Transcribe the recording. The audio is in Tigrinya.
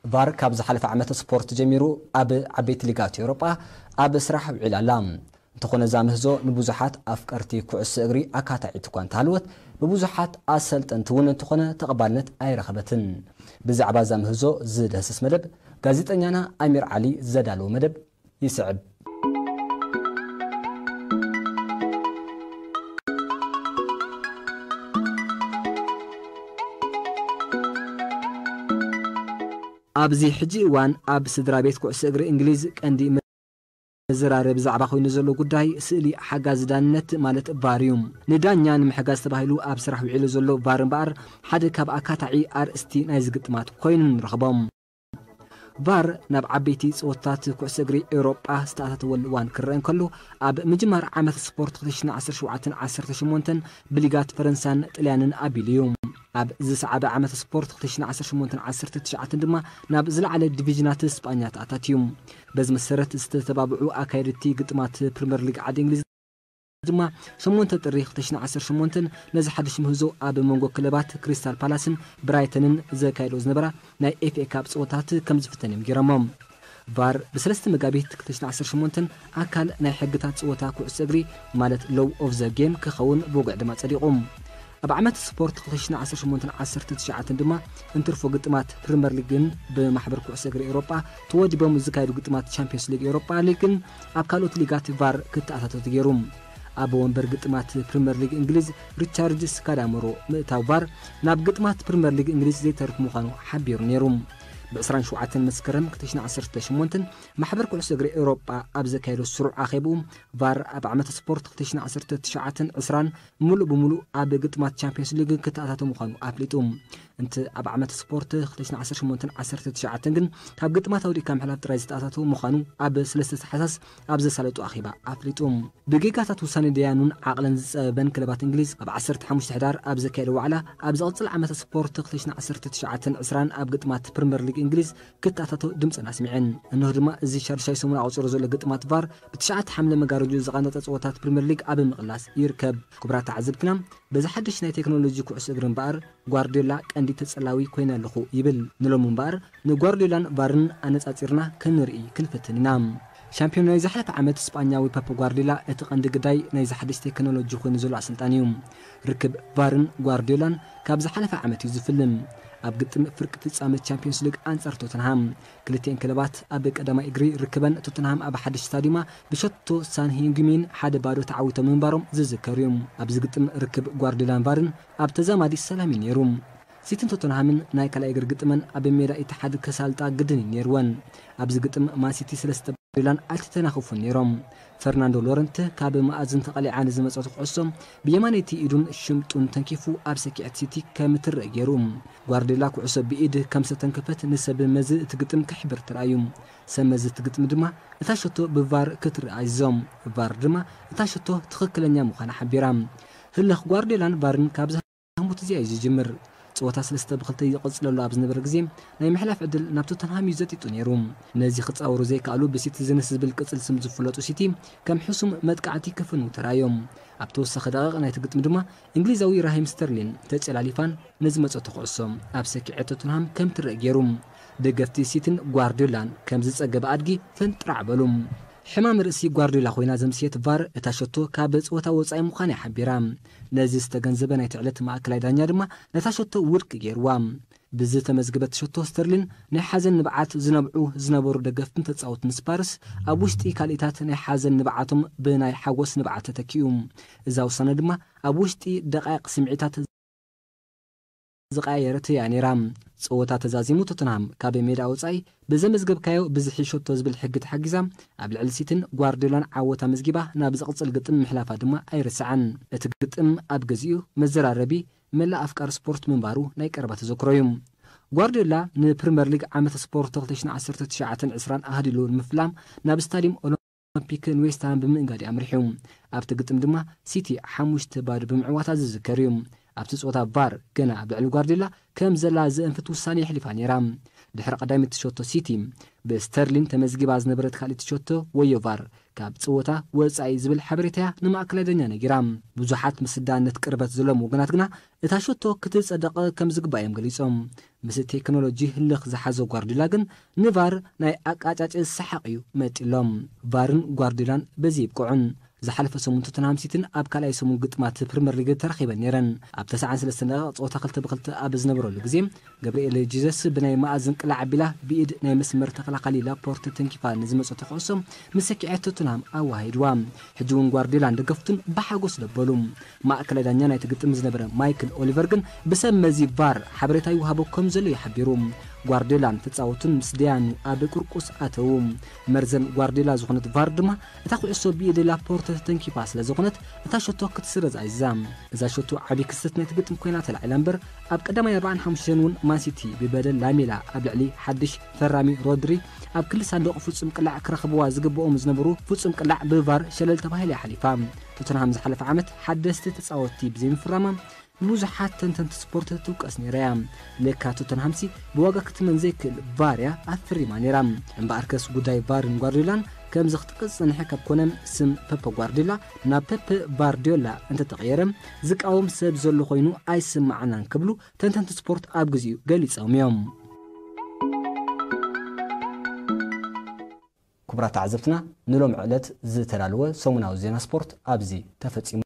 ቫር ካብ ዝሓለፈ ዓመት ስፖርት ጀሚሩ ኣብ ዓበይቲ ሊጋት ኤውሮጳ ኣብ ስራሕ ውዒላ ኣላ። እንተኾነ እዛ ምህዞ ንብዙሓት ኣፍቀርቲ ኩዕሶ እግሪ ኣካታዒት እኳ እንተሃለወት፣ ብብዙሓት ኣሰልጠንቲ እውን እንተኾነ ተቐባልነት ኣይረኸበትን። ብዛዕባ እዛ ምህዞ ዝድህስስ መደብ ጋዜጠኛና ኣሚር ዓሊ ዘዳለዎ መደብ ይስዕብ። ኣብዚ ሕጂ እዋን ኣብ ስድራ ቤት ኩዕሶ እግሪ እንግሊዝ ቀንዲ መዘራረቢ ዛዕባ ኮይኑ ዘሎ ጉዳይ ስእሊ ሓጋዚ ዳንነት ማለት ቫር እዩ። ንዳኛ ንምሕጋዝ ተባሂሉ ኣብ ስራሕ ውዒሉ ዘሎ ቫር እምበኣር ሓደ ካብ ኣካታዒ ኣርእስቲ ናይዚ ግጥማት ኮይኑ ንረኽቦ። ቫር ናብ ዓበይቲ ጸወታታት ኩዕሶ እግሪ ኤውሮጳ ዝተኣታተወሉ እዋን ክረአ እንከሎ፣ ኣብ ምጅማር ዓመት ስፖርት ክልተ ሽሕን ዓሰርተ ሸውዓተን ዓሰርተ ሸሞንተን ብሊጋት ፈረንሳን ጥልያንን ኣቢሉ እዩ። ኣብ ዝሰዓበ ዓመት ስፖርት ክልተ ሽሕን ዓሰርተ ሸሞንተን ዓሰርተ ትሽዓተን ድማ ናብ ዝለዓለ ዲቪዥናት ስጳኛ ተኣታትዩ። በዚ መሰረት ዝተተባብዑ ኣካየድቲ ግጥማት ፕሪምየር ሊግ ዓዲ እንግሊዝ ድማ ሸሞንተ ጥሪ ክልተ ሽሕን ዓሰርተ ሸሞንተን ነዚ ሓድሽ ምህዞ ኣብ መንጎ ክለባት ክሪስታል ፓላስን ብራይተንን ዘካየዶ ዝነበራ ናይ ኤፍ ኤ ካፕ ጸወታት ከም ዝፍተን እዮም ገይሮሞ። ቫር ብሰለስተ መጋቢት ክልተ ሽሕን ዓሰርተ ሸሞንተን ኣካል ናይ ሕግታት ጸወታ ኩዕሶ እግሪ ማለት ሎው ኦፍ ዘ ጌም ክኸውን ብውግዕ ድማ ጸዲቑ። ኣብ ዓመት ስፖርት ክልተ ሽሕን ዓሰርተ ሸሞንተን ዓሰርተ ትሽዓተን ድማ እንትርፎ ግጥማት ፕሪምየር ሊግን ብማሕበር ኩዕሶ እግሪ ኤውሮጳ ተወዲቦም ዝካየዱ ግጥማት ቻምፒዮንስ ሊግ ኤውሮጳ ሊግን ኣብ ካልኦት ሊጋት ቫር ክተኣታተው ተገይሩ። ኣብ ወንበር ግጥማት ፕሪምየር ሊግ እንግሊዝ ሪቻርድ ስካዳሞሮ ምእታው ቫር ናብ ግጥማት ፕሪምየር ሊግ እንግሊዝ ዘይተርፍ ምዃኑ ሓቢሩ ነይሩ። ብ ዕስራን ሸውዓተን መስከረም ክልተ ሽሕን ዓሰርተ ሸሞንተን ማሕበር ኩዕሶ እግሪ ኤውሮጳ ኣብ ዘካየዶ ስሩዕ ኣኼብኡ ቫር ኣብ ዓመት ስፖርት ክልተ ሽሕን ዓሰርተ ትሽዓተን ዕስራን ምሉእ ብምሉእ ኣብ ግጥማት ቻምፒዮንስ ሊግ ክተኣታተው ምዃኑ ኣፍሊጡ። እንተ ኣብ ዓመት ስፖርት ክልተ ሽሕን ዓሰርተ ሸሞንተን ዓሰርተ ትሽዓተን ግን ካብ ግጥማት ኣውዲእካ ምሕላፍ ጥራይ ዝተኣታተወ ምዃኑ ኣብ ሰለስተ ታሕሳስ ኣብ ዘሳለጡ ኣኼባ ኣፍሊጡ። ብጌጋታት ውሳኔ ደያኑን ዓቕለን ዝጸበበን ክለባት እንግሊዝ ኣብ ዓሰርተ ሓሙሽተ ሕዳር ኣብ ዘካየደ ዋዕላ ኣብ ዝቕጽል ዓመት ስፖርት ክልተ ሽሕን ዓሰርተ ትሽዓተን ዕስራን ኣብ ግጥማት ፕሪምየር ሊግ እንግሊዝ ክተኣታተው ድምጸን ኣስሚዐን። እንሆ ድማ እዚ ሻድሻይ ሰሙን ኣቑጺሩ ዘሎ ግጥማት ቫር ብትሽዓተ ሓምለ መጋረጆ ዝቐነጠ ጸወታት ፕሪምየር ሊግ ኣብ ምቕላስ ይርከብ። ክቡራት ተዓዘብትና፣ በዚ ሓድሽ ናይ ቴክኖሎጂ ኩዕሶ እግሪ እምበኣር ጓርዲዮላ ቀንዲ ተጸላዊ ኮይነ ኣለኹ ይብል። ንሎሚ እምበኣር ንጓርዲዮላን ቫርን ኣነጻጺርና ክንርኢ ክንፍትን ኢና። ሻምፒዮን ናይ ዝሓለፈ ዓመት ስጳኛዊ ፐፕ ጓርዲዮላ እቲ ቀንዲ ግዳይ ናይዚ ሓድሽ ቴክኖሎጂ ኮይኑ ዘሎ ኣሰልጣኒ እዩ። ርክብ ቫርን ጓርዲዮላን ካብ ዝሓለፈ ዓመት እዩ ዝፍልም። ኣብ ግጥም ፍርቂ ፍጻመ ቻምፒዮንስ ሊግ ኣንጻር ቶተንሃም ክልቲኤን ክለባት ኣብ ቀዳማይ እግሪ ርክበን ቶተንሃም ኣብ ሓድሽ ስታዲዩማ ብሸቶ ሳን ሂንግሚን ሓደ ባዶ ተዓዊቶም ምንባሮም ዝዝከር እዩ። ኣብዚ ግጥም ርክብ ጓርዲዮላን ቫርን ኣብ ተዛማዲ ሰላም እዩ ነይሩ። ሲቲን ቶተንሃምን ናይ ካልኣይ እግሪ ግጥመን ኣብ ሜዳ ኢትሓድ ከሳልጣ ግድን እዩ ነይርወን። ኣብዚ ግጥም ማንሲቲ ሰለስተ ጓርዲዮላን ኣይተተናኸፉን ነይሮም። ፈርናንዶ ሎረንት ካብ መኣዝን ተቐሊዓ ንዝመጸት ኩዕሶ ብየማነይቲ ኢዱን ሽምጡን ተንኪፉ ኣብ ሰኪዐት ሲቲ ከም ትረአ ገይሩ። ጓርዲዮላ ኩዕሶ ብኢድ ከም ዝተንከፈት ንሰብ መዚ እቲ ግጥም ክሕብር ተራእዩ። ሰብ መዚ እቲ ግጥም ድማ እታ ሸቶ ብቫር ክትረኣ ኣዚዞም። ቫር ድማ እታ ሸቶ ትኽክለኛ ምዃና ሓቢራ። ህልኽ ጓርዲዮላን ቫርን ካብ ዝሃሙት እዚኣ እዩ ዝጅምር። ጸወታ ሰለስተ ብኽልተ ይቕጽለሉ ኣብ ዝነበረ ግዜ ናይ ምሕላፍ ዕድል ናብ ቶተንሃም እዩ ዘጢጡ ነይሩ። ነዚ ክጻወሩ ዘይከኣሉ ብሲቲዝንስ ዝብል ቅጽል ስም ዝፍለጡ ሲቲ ከም ሕሱም መጥቃዕቲ ክፍንው ተራእዮም። ኣብ ተወሳኺ ደቂቕ ናይቲ ግጥም ድማ እንግሊዛዊ ራሂም ስተርሊን ተጨላሊፋን ንዝመጸቶ ኩዕሶ ኣብ ሰኪዐ ቶተንሃም ከም ትረአ ገይሩ። ደገፍቲ ሲቲን ጓርዲዮላን ከም ዝጸገበ ኣድጊ ፍንጥራዕ በሉ። ሕማም ርእሲ ጓርዲዮላ ኮይና ዘምስየት ቫር እታ ሸቶ ካብ ጸወታ ወጻኢ ምዃና እያ ሓቢራ። ነዚ ዝተገንዘበ ናይቲ ዕለት ማእከላይ ዳኛ ድማ ነታ ሸቶ ውድቂ ገይርዋ። ብዝተመዝገበት ሸቶ ስተርሊን ናይ ሓዘን ንብዓት ዝነብዑ ዝነበሩ ደገፍትን ተጻወትን ስፓርስ ኣብ ውሽጢ ካልኢታት ናይ ሓዘን ንብዓቶም ብናይ ሓጎስ ንብዓት ተተኪኡ። እዛ ውሳነ ድማ ኣብ ውሽጢ ደቃይቕ ስምዒታት ዝቐያየረት እያ ነይራ። ጸወታ ተዛዚሙ ቶተንሃም ካብ ሜዳ ወጻኢ ብዘመዝገብካዮ ብዝሒ ሸቶ ዝብል ሕጊ ተሓጊዛ ኣብ ልዕሊ ሲቲን ጓርዲዮላን ዓወት ኣመዝጊባ ናብ ዝቕጽል ግጥም ምሕላፋ ድማ ኣይርሳዕን። እቲ ግጥም ኣብ ገዚኡ መዘራረቢ መላእ ኣፍቃሪ ስፖርት ምንባሩ ናይ ቀረባ ተዘክሮ እዩ። ጓርዲዮላ ንፕሪምየር ሊግ ዓመተ ስፖርት ክልተ ሽሕን ዓሰርተ ትሽዓተን ዕስራን ኣህዲሉ ንምፍላም ናብ ስታድየም ኦሎምፒክ ንዌስትሃም ብምእንጋድ ኣምሪሑ። ኣብቲ ግጥም ድማ ሲቲ ሓሙሽተ ባዶ ብምዕዋታ ዝዝከር እዩ። ኣብቲ ጸወታ ቫር ገና ኣብ ልዕሊ ጓርዲዮላ ከም ዘላ ዘእንፍት ውሳኔ የሕሊፋ ነይራ። ድሕሪ ቀዳመይቲ ሸቶ ሲቲ ብስተርሊን ተመዝጊባ ዝነበረት ካልኣይቲ ሸቶ ወዮ ቫር ካብ ጸወታ ወጻኢ ዝብል ሓበሬታያ ንማእከላይ ዳኛ ነጊራ። ብዙሓት ምስዳነት ቅርበት ዘለዎም ወገናት ግና እታ ሸቶ ክትጸደቕ ከም ዝግባእ እዮም ገሊጾም። ምስ ቴክኖሎጂ ህልኽ ዝሓዞ ጓርዲዮላ ግን ንቫር ናይ ኣቃጫጭ ሰሓቕ እዩ መጢሎም። ቫርን ጓርዲዮላን በዚ ይብቅዑን። ዝሓለፈ ሰሙን ቶተንሃም ሲቲን ኣብ ካልኣይ ሰሙን ግጥማት ፕሪምየር ሊግ ተራኺበን ነይረን። ኣብ ተስዓን ሰለስተን ደቂቕ ጸወታ ክልተ ብክልተ ኣብ ዝነበረሉ ግዜ ገብርኤል ጂዘስ ብናይ መኣዝን ቅላዕ ኣቢላ ብኢድ ናይ መስመር ተኸላኻሊ ላፖርተ ተንኪፋ ንዝመጸቶ ኩዕሶ ምስ ሰኪዐት ቶተንሃም ኣዋሂድዋ። ሕጂ እውን ጓርዲዮላን ደገፍቱን ብሓጎስ ደበሉ። ማእከላይ ዳኛ ናይቲ ግጥም ዝነበረ ማይክል ኦሊቨር ግን ብሰብ መዚ ቫር ሓበሬታ ይወሃቦ ከም ዘሎ እዩ ሓቢሩ። ጓርዲዮላን ተጻወቱን ምስ ደያኑ ኣብ ቁርቁስ ኣተዉ። መርዘን ጓርዲዮላ ዝኾነት ቫር ድማ እታ ኩዕሶ ብኢድ ላፖርተ ተተንኪፋ ስለ ዝኾነት እታ ሸቶ ክትስረዝ ኣዚዛ። እዛ ሸቶ ዓቢ ክስተት ናይቲ ግጥም ኮይና ተላዒላ እምበር ኣብ ቀዳማይ ኣርባዓን ሓሙሽተን እውን ማንሲቲ ብበደል ላሜላ ኣብ ልዕሊ ሓድሽ ፈራሚ ሮድሪ ኣብ ክሊ ሳንዱቕ ፍጹም ቅላዕ ክረኽብዋ ዝግብኦም ዝነበሩ ፍጹም ቅላዕ ብቫር ሸለል ተባሂላ እያ ሓሊፋ። ቶተንሃም ዝሓለፈ ዓመት ሓደስቲ ተጻወትቲ ብዘይምፍራማ ብብዙሓት ተንተንቲ ስፖርት ትውቀስ ነይራ እያ። ለካ ቶተንሃምሲ ብዋጋ ክትመን ዘይክእል ቫር እያ ኣፍሪማ ነይራ። እምበኣርከስ ጉዳይ ቫርን ጓርዲዮላን ከምዚ ክትቅጽ ጸኒሐ ካብ ኮነ ስም ፐፐ ጓርዲዮላ ናብ ፐፐ ቫርዲዮላ እንተተቐየረ ዝቃወም ሰብ ዘሎ ኮይኑ ኣይስማዓናን ክብሉ ተንተንቲ ስፖርት ኣብ ግዚኡ ገሊጾም እዮም። ክቡራት ተዓዘብትና ንሎም ዕለት ዝተዳለወ ሰሙናዊ ዜና ስፖርት ኣብዚ ተፈጺሙ።